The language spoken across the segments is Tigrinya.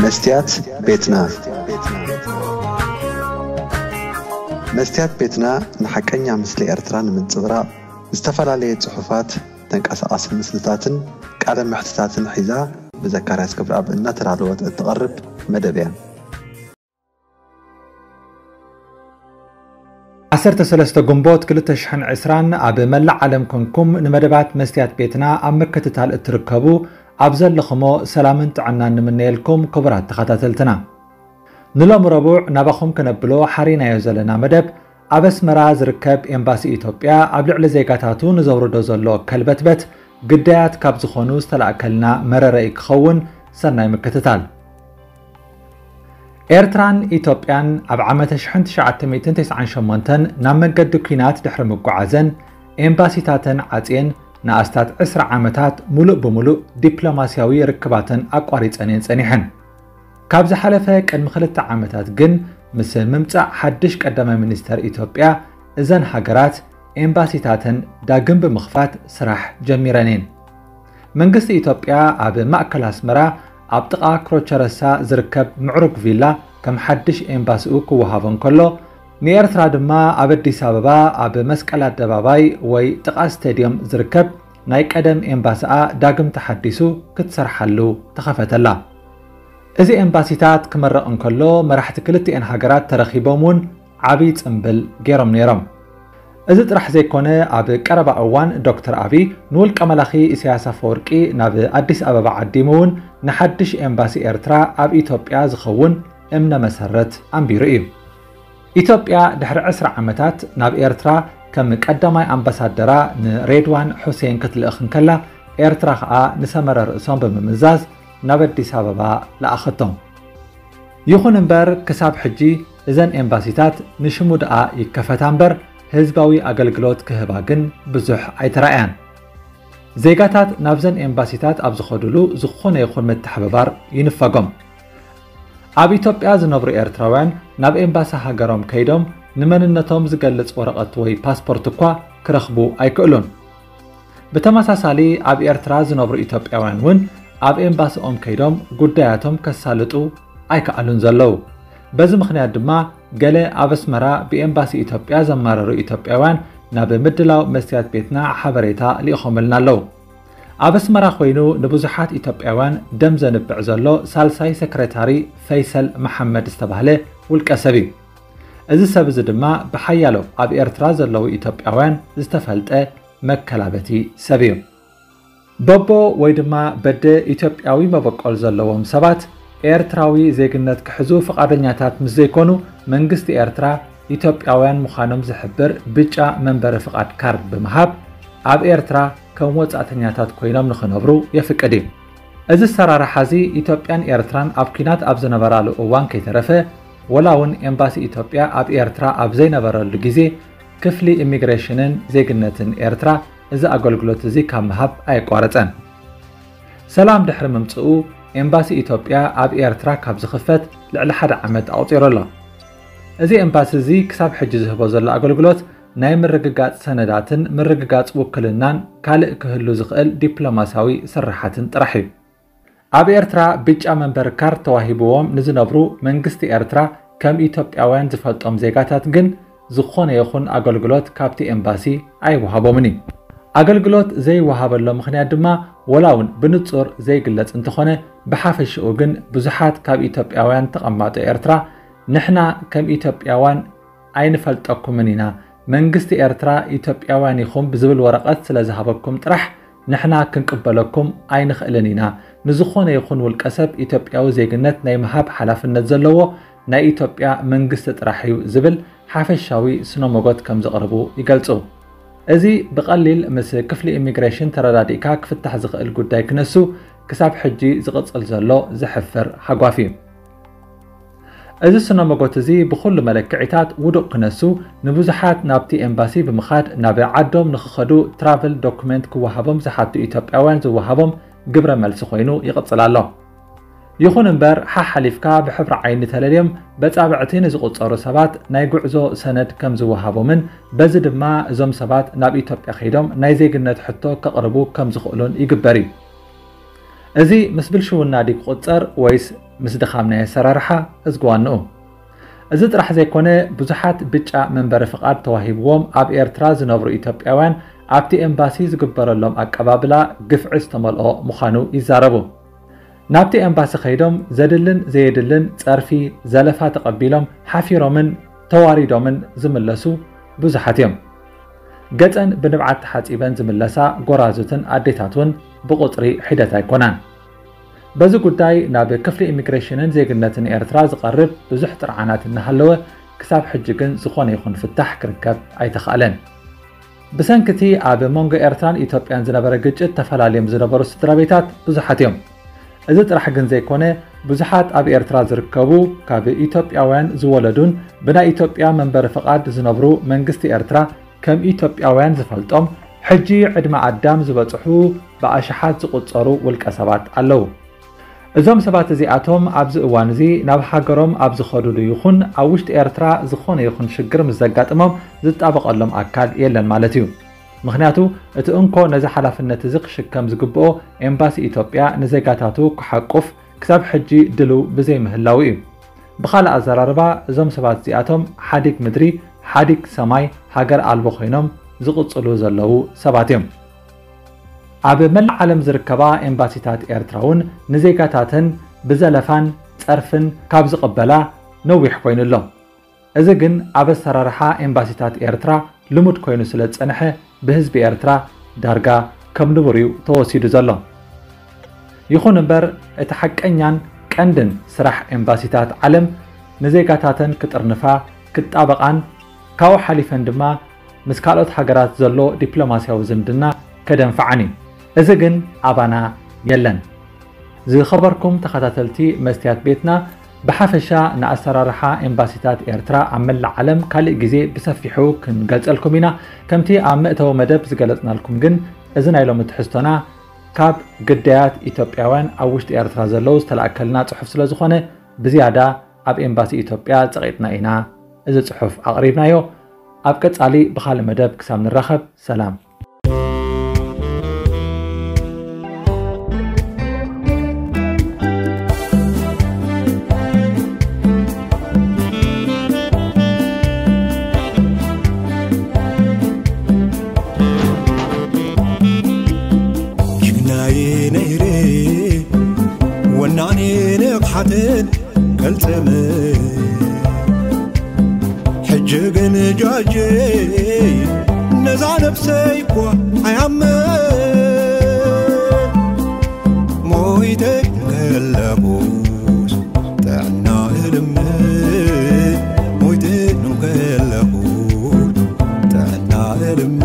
መስትያት ቤትና። መስትያት ቤትና ንሓቀኛ ምስሊ ኤርትራ ንምንጽብራቕ ዝተፈላለየ ጽሑፋት፣ ተንቀሳቓሲ ምስልታትን ቃለ መሕትታትን ሒዛ ብዘካርያስ ክብረኣብ እናተዳለወት እትቐርብ መደብ እያ። ዓሰርተ ሰለስተ ግንቦት ክልተ ሽሕን ዕስራን ኣብ መላእ ዓለም ኮንኩም ንመደባት መስትያት ቤትና ኣብ ምክትታል እትርከቡ ኣብ ዘለኹሞ ሰላምን ጥዕናን ንምነየልኩም ክቡራት ተኸታተልትና። ንሎሚ ረቡዕ ናባኹም ከነብሎ ሓሪናዮ ዘለና መደብ ኣብ ኣስመራ ዝርከብ ኤምባሲ ኢትዮጵያ ኣብ ልዕሊ ዜጋታቱ ንዘውርዶ ዘሎ ከልበትበት ግዳያት ካብ ዝኾኑ ዝተላእከልና መረረኢ ክኸውን ሰናይ ምክትታል። ኤርትራን ኢትዮጵያን ኣብ ዓመተ ሽሕን ትሽዓተ ሚእትን ተስዓን ሸሞንተን ናብ መንገዲ ኲናት ድሕሪ ምጉዓዘን ኤምባሲታተን ዓጽየን ንኣስታት ዕስራ ዓመታት ሙሉእ ብምሉእ ዲፕሎማስያዊ ርክባተን ኣቋሪጸን እየን ጸኒሐን። ካብ ዝሓለፈ ቅድሚ ክልተ ዓመታት ግን ምስ ምምጻእ ሓድሽ ቀዳማይ ሚኒስተር ኢትዮጵያ እዘን ሃገራት ኤምባሲታተን ዳግም ብምኽፋት ስራሕ ጀሚረን እየን። መንግስቲ ኢትዮጵያ ኣብ ማእከል ኣስመራ ኣብ ጥቓ ክሮቸረሳ ዝርከብ ምዕሩግ ቪላ ከም ሓድሽ ኤምባሲኡ ክወሃቦ እንከሎ፣ ንኤርትራ ድማ ኣብ ኣዲስ ኣበባ ኣብ መስቀል ኣደባባይ ወይ ጥቓ ስቴድዮም ዝርከብ ናይ ቀደም ኤምባሲኣ ዳግም ተሓዲሱ ክትሰርሓሉ ተኸፈተላ። እዚ ኤምባሲታት ክመረቕ እንከሎ መራሕቲ ክልቲኤን ሃገራት ተረኺቦም እውን ዓብዪ ጽምብል ገይሮም ነይሮም። እዚ ጥራሕ ዘይኮነ፣ ኣብ ቀረባ እዋን ዶክተር ኣቢ ንውልቀ መላኺ ኢሳያስ ኣፈወርቂ ናብ ኣዲስ ኣበባ ዓዲሙ እውን ንሓድሽ ኤምባሲ ኤርትራ ኣብ ኢትዮጵያ ዝኸውን እምነ መሰረት ኣንቢሩ እዩ። ኢትዮጵያ ድሕሪ ዕስራ ዓመታት ናብ ኤርትራ ከም ቀዳማይ ኣምባሳደራ ንሬድዋን ሑሴን ክትልእኽ እንከላ፣ ኤርትራ ኸኣ ንሰመረ ርእሶም ብምምዛዝ ናብ ኣዲስ ኣበባ ለኣኸቶም። ይኹን እምበር፣ ክሳብ ሕጂ እዘን ኤምባሲታት ንሽሙ ደኣ ይከፈታ እምበር፣ ህዝባዊ ኣገልግሎት ክህባ ግን ብዙሕ ኣይተራእያን። ዜጋታት ናብዘን ኤምባሲታት ኣብ ዝኸዱሉ ዝኾነ ይኹን ምትሕብባር ይንፈጎም። ኣብ ኢትዮጵያ ዝነብሩ ኤርትራውያን ናብ ኤምባሲ ሃገሮም ከይዶም ንመንነቶም ዝገልጽ ወረቐት ወይ ፓስፖርት እኳ ክረኽቡ ኣይክእሉን። ብተመሳሳሊ ኣብ ኤርትራ ዝነብሩ ኢትዮጵያውያን እውን ኣብ ኤምባሲኦም ከይዶም ጉዳያቶም ከሳልጡ ኣይከኣሉን ዘለዉ። በዚ ምኽንያት ድማ ገለ ኣብ ኣስመራ ብኤምባሲ ኢትዮጵያ ዘማረሩ ኢትዮጵያውያን ናብ ምድላው መስትያት ቤትና ሓበሬታ ልኢኾምልና ኣለዉ። ኣብ ኣስመራ ኮይኑ ንብዙሓት ኢትዮጵያውያን ደም ዘንብዕ ዘሎ ሳልሳይ ሰክረታሪ ፈይሰል መሓመድ ዝተባህለ ውልቀ ሰብ እዩ። እዚ ሰብ እዚ ድማ ብሓያሎ ኣብ ኤርትራ ዘለዉ ኢትዮጵያውያን ዝተፈልጠ መከላበቲ ሰብ እዩ። በቦ ወይ ድማ በደ ኢትዮጵያዊ መበቆል ዘለዎም ሰባት ኤርትራዊ ዜግነት ክሕዙ ፍቓደኛታት ምስ ዘይኮኑ፣ መንግስቲ ኤርትራ ኢትዮጵያውያን ምዃኖም ዝሕብር ብጫ መንበሪ ፍቓድ ካርድ ብምሃብ ኣብ ኤርትራ ከም ወጻእተኛታት ኮይኖም ንኽነብሩ የፍቅድ እዩ። እዚ ኣሰራርሓ እዚ ኢትዮጵያን ኤርትራን ኣብ ኲናት ኣብ ዝነበራሉ እዋን ከይተረፈ፣ ወላ እውን ኤምባሲ ኢትዮጵያ ኣብ ኤርትራ ኣብ ዘይነበረሉ ግዜ፣ ክፍሊ ኢሚግሬሽንን ዜግነትን ኤርትራ እዚ ኣገልግሎት እዚ ካብ ምሃብ ኣየቋረጸን። ሰላም ድሕሪ ምምጽኡ፣ ኤምባሲ ኢትዮጵያ ኣብ ኤርትራ ካብ ዝኽፈት ልዕሊ ሓደ ዓመት ኣቑጺሩ ኣሎ። እዚ ኤምባሲ እዚ ክሳብ ሕጂ ዝህቦ ዘሎ ኣገልግሎት ናይ ምርግጋጽ ሰነዳትን ምርግጋጽ ውክልናን ካልእ ክህሉ ዝኽእል ዲፕሎማስያዊ ስርሓትን ጥራሕ እዩ። ኣብ ኤርትራ ብጫ መንበሪ ካርድ ተዋሂብዎም ንዝነብሩ መንግስቲ ኤርትራ ከም ኢትዮጵያውያን ዝፈልጦም ዜጋታት ግን ዝኾነ ይኹን ኣገልግሎት ካብቲ ኤምባሲ ኣይወሃቦምን እዩ። ኣገልግሎት ዘይወሃበሎ ምኽንያት ድማ ወላ እውን ብንጹር ዘይግለጽ እንተኾነ፣ ብሓፈሽኡ ግን ብዙሓት ካብ ኢትዮጵያውያን ተቐማጦ ኤርትራ ንሕና ከም ኢትዮጵያውያን ኣይንፈልጠኩምን ኢና፣ መንግስቲ ኤርትራ ኢትዮጵያውያን ኢኹም ብዝብል ወረቐት ስለ ዝሃበኩም ጥራሕ ንሕና ክንቅበለኩም ኣይንኽእልን ኢና። ንዝኾነ ይኹን ውልቀ ሰብ ኢትዮጵያዊ ዜግነት ናይ ምሃብ ሓላፍነት ዘለዎ ናይ ኢትዮጵያ መንግስቲ ጥራሕ እዩ ዝብል ሓፈሻዊ ስነ-ሞጎት ከም ዘቕርቡ ይገልጹ። እዚ ብቐሊል ምስ ክፍሊ ኢሚግሬሽን ተረዳዲእካ ክፍታሕ ዝኽእል ጉዳይ ክነሱ ክሳብ ሕጂ ዝቕጽል ዘሎ ዘሕፍር ሃጓፍ እዩ። እዚ ስነ-ሞጎት እዚ ብኹሉ መለክዒታት ውዱቕ ክነሱ፣ ንብዙሓት ናብቲ ኤምባሲ ብምኻድ ናብ ዓዶም ንኽኸዱ ትራቨል ዶኩመንት ክወሃቦም ዝሓቱ ኢትዮጵያውያን ዝወሃቦም ግብረ መልሲ ኮይኑ ይቕጽል ኣሎ። ይኹን እምበር፣ ሓሓሊፍካ ብሕብሪ ዓይኒ ተለልዮም በጻብዕቲ ንዝቑጸሩ ሰባት ናይ ጉዕዞ ሰነድ ከም ዝወሃቦምን በዚ ድማ እዞም ሰባት ናብ ኢትዮጵያ ከይዶም ናይ ዜግነት ሕቶ ከቕርቡ ከም ዝኽእሉን ይግበር እዩ። እዚ ምስ ብልሽውና ድዩ ክቑጸር ወይስ ምስ ድኻም ናይ ኣሰራርሓ እዝጊ ዋንኡ። እዚ ጥራሕ ዘይኮነ፣ ብዙሓት ብጫ መንበሪ ፍቓድ ተዋሂብዎም ኣብ ኤርትራ ዝነብሩ ኢትዮጵያውያን ኣብቲ ኤምባሲ ዝግበረሎም ኣቀባብላ ግፍዒ ዝተመልኦ ምዃኑ ይዛረቡ። ናብቲ ኤምባሲ ከይዶም ዘድልን ዘየድልን ጸርፊ፣ ዘለፋ ተቐቢሎም ሓፊሮምን ተዋሪዶምን ዝምለሱ ብዙሓት እዮም። ገጸን ብንብዓት ተሓጺበን ዝምለሳ ጎራዙትን ኣዴታት እውን ብቑጽሪ ሒደት ኣይኮናን። በዚ ጉዳይ ናብ ክፍሊ ኢሚግሬሽንን ዜግነትን ኤርትራ ዝቐርብ ብዙሕ ጥርዓናት እናሃለወ፣ ክሳብ ሕጂ ግን ዝኾነ ይኹን ፍታሕ ክርከብ ኣይተኻእለን። ብሰንኪ እቲ ኣብ መንጎ ኤርትራን ኢትዮጵያን ዝነበረ ግጭት ተፈላልዮም ዝነበሩ ስድራ ቤታት ብዙሓት እዮም። እዚ ጥራሕ ግን ዘይኮነ፣ ብዙሓት ኣብ ኤርትራ ዝርከቡ ካብ ኢትዮጵያውያን ዝወለዱን ብናይ ኢትዮጵያ መንበሪ ፍቓድ ዝነብሩ መንግስቲ ኤርትራ ከም ኢትዮጵያውያን ዝፈልጦም ሕጂ ዕድመ ኣዳም ዝበጽሑ ብኣሽሓት ዝቑጸሩ ውልቀ ሰባት ኣለዉ። እዞም ሰባት እዚኣቶም ኣብዚ እዋን እዚ ናብ ሃገሮም ኣብ ዝኸዱሉ ይኹን ኣብ ውሽጢ ኤርትራ ዝኾነ ይኹን ሽግር ምስ ዘጋጥሞም ዝጣበቐሎም ኣካል የለን ማለት እዩ። ምኽንያቱ እቲ እንኮ ነዚ ሓላፍነት እዚ ክሽከም ዝግብኦ ኤምባሲ ኢትዮጵያ ንዜጋታቱ ክሓቁፍ ክሳብ ሕጂ ድልው ብዘይምህላዉ እዩ። ብኻልእ ኣዘራርባ እዞም ሰባት እዚኣቶም ሓዲግ ምድሪ ሓዲግ ሰማይ ሃገር ኣልቦ ኮይኖም ዝቕጽሉ ዘለዉ ሰባት እዮም። ኣብ መላእ ዓለም ዝርከባ ኤምባሲታት ኤርትራ እውን ንዜጋታተን ብዘለፋን ጸርፍን ካብ ዝቕበላ ነዊሕ ኮይኑ ኣሎ። እዚ ግን ኣብ ኣሰራርሓ ኤምባሲታት ኤርትራ ልሙድ ኮይኑ ስለ ዝጸንሐ ብህዝቢ ኤርትራ ዳርጋ ከም ንቡር እዩ ተወሲዱ ዘሎ። ይኹን እምበር እቲ ሓቀኛን ቀንድን ስራሕ ኤምባሲታት ዓለም ንዜጋታተን ክጥርንፋ ክጣበቓን ካብኡ ሓሊፈን ድማ ምስ ካልኦት ሃገራት ዘሎ ዲፕሎማስያዊ ዝምድና ከደንፍዓን እዩ። እዚ ግን ኣባና የለን። ዝኸበርኩም ተኸታተልቲ መስትያት ቤትና፣ ብሓፈሻ ንኣሰራርሓ ኤምባሲታት ኤርትራ ኣብ መላእ ዓለም ካልእ ግዜ ብሰፊሑ ክንገልጸልኩም ኢና። ከምቲ ኣብ መእተዊ መደብ ዝገለጽናልኩም ግን፣ እዚ ናይ ሎሚ ትሕዝቶና ካብ ግዳያት ኢትዮጵያውያን ኣብ ውሽጢ ኤርትራ ዘለዉ ዝተላእከልና ጽሑፍ ስለ ዝኾነ፣ ብዝያዳ ኣብ ኤምባሲ ኢትዮጵያ ጸቒጥና ኢና እዚ ጽሑፍ ኣቕሪብናዮ። ኣብ ቀጻሊ ብኻልእ መደብ ክሳብ ንራኸብ፣ ሰላም። ጅግናይ ነይረ ወናኒ ንቕሓትን ቅልጽምን፣ ሕጂ ግን ጃጀይ ነዛ ነብሰይ እኳ ኣይኣምን። ሞይተ ከለኹስ ጥዕና እልምን፣ ሞይተ ከለኹስ ጥዕና እልምን።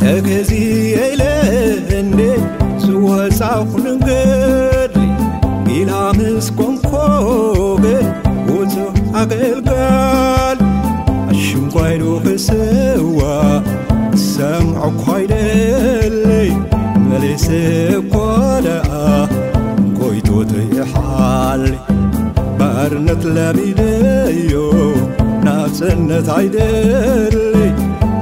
ተገዚኤ ኢለ እንዴ ዝወፃኹ ንገድሊ፣ ጊላ ምስ ኮንኮ ግን ውፁእ ኣገልጋል። ኣሽንኳይሉ ክስዋ ክሰምዖ እኳ ይደሊ፣ መሊሰ እኳ ደኣ ጎይቶት ይሓሊ። ባርነት ለሚደዮ ናጽነት ኣይደሊ፣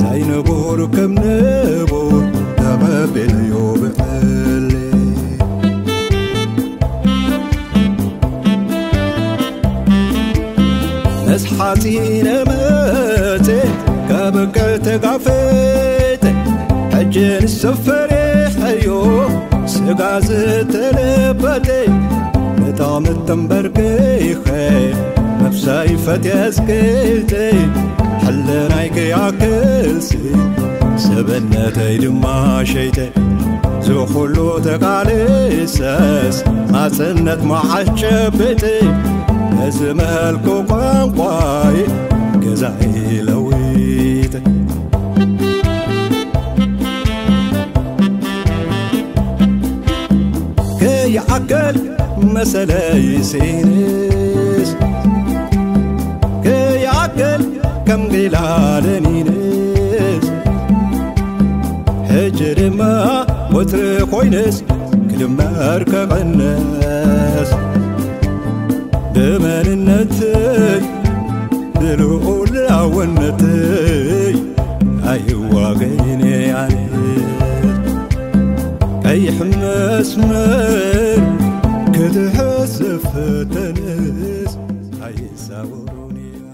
ዘይንቡር ከም ንቡር ተቐቢለዮ ብዕሊ። ምስ ሓጺነ መጽ ካብ ቀተጋፈተ ሕጂ ንሰፈሬ ሕዮ ስጋ ዝተለበጠ ብጣዕሚ ተንበርኪኸ ነብሰይ ፈትየ ኣስቂጠ፣ ሕልናይ ከይኣክልሲ ሰብነተይ ድማ ሸይጠ። ዝኹሉ ተቃሊሰስ ናጽነት መዓስ ጨብጠ፣ ነዚ መልኩ ቋንቋይ ገዛይ ለዊጠ። ከይዓገል መሰለይ ሲንስ፣ ከይዓገል ከም ጊላ ለኒንስ፣ ሕጂ ድማ ወትሪ ኮይንስ ክድመር ከቐንስ፣ ብመንነተይ ብልዑላውነተይ ኣይዋገይን ኣነ። ቀይሕ መስመር ክትሕዝ ፈተንስ ኣይዛወሩን እዮም።